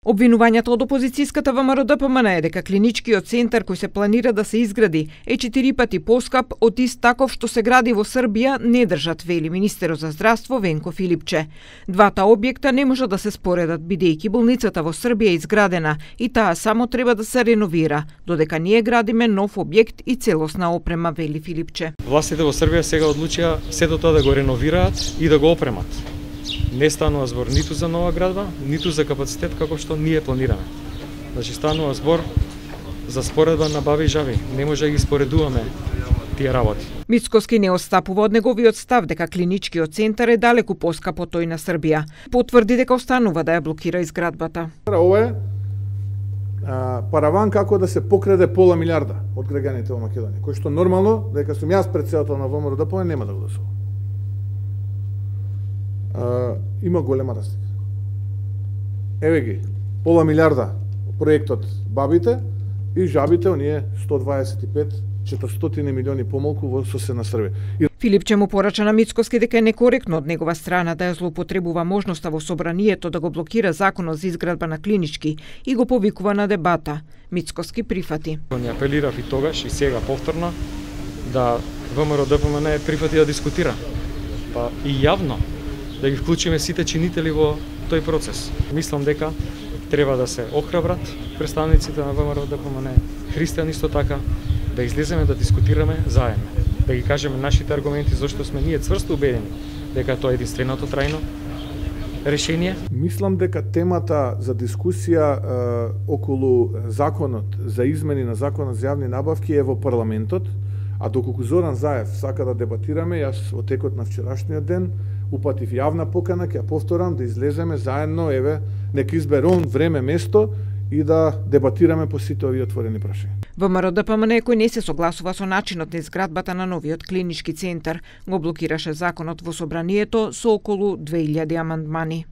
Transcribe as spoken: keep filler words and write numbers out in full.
Обвинувањето од опозицијската ВМРО-ДПМН е дека клиничкиот центар кој се планира да се изгради е четири пати поскап од ист таков што се гради во Србија не држат, вели министерот за здравство Венко Филипче. Двата објекта не можат да се споредат бидејќи болницата во Србија е изградена и таа само треба да се реновира, додека ние градиме нов објект и целосна опрема, вели Филипче. Властите во Србија сега одлучија сето тоа да го реновираат и да го опремат. Не станува збор ниту за нова градба, ниту за капацитет како што ние планираме. Значи станува збор за споредба на баби и жаби. Не може да ги споредуваме тие работи. Мицкоски не отстапува од неговиот став дека клиничкиот центар е далеку поскап од тој на Србија. Потврди дека останува да ја блокира изградбата. Ова е а, параван како да се покраде пола милиарда од граѓаните во Македонија, кој што нормално, дека сум јас претседател на ВМРО-ДПМН, нема да го гласува. Uh, има голема разлика. Еве ги, пола милиарда проектот бабите и жабите, оние сто дваесет и пет четиристотини милиони помалку во соседна Србија. И... Филипче му порача на Мицкоски дека е некоректно од негова страна да ја злоупотребува можноста во собранието да го блокира законот за изградба на клинички и го повикува на дебата. Мицкоски прифати. Ни апелирав и тогаш и сега повторно да ВМРО-ДПМН прифати да дискутира. Па и јавно да ги вклучиме сите чинители во тој процес. Мислам дека треба да се охрабрат представниците на ВМРО-ДПМН, христијани исто така, да излеземе да дискутираме заедно, да ги кажеме нашите аргументи зашто сме ние цврсто убедени дека тоа е единственото трајно решение. Мислам дека темата за дискусија е, околу законот за измени на законот за јавни набавки е во парламентот, а доколку Зоран Заев сака да дебатираме, јас во текот на вчерашниот ден упатив јавна покана, ќе ја повторам, да излеземе заедно, еве, нека избере он време, место и да дебатираме по сите овие отворени прашања. ВМРО-ДПМН кој не се согласува со начинот на изградбата на новиот клинички центар, го блокираше законот во собранието со околу две илјади амандмани.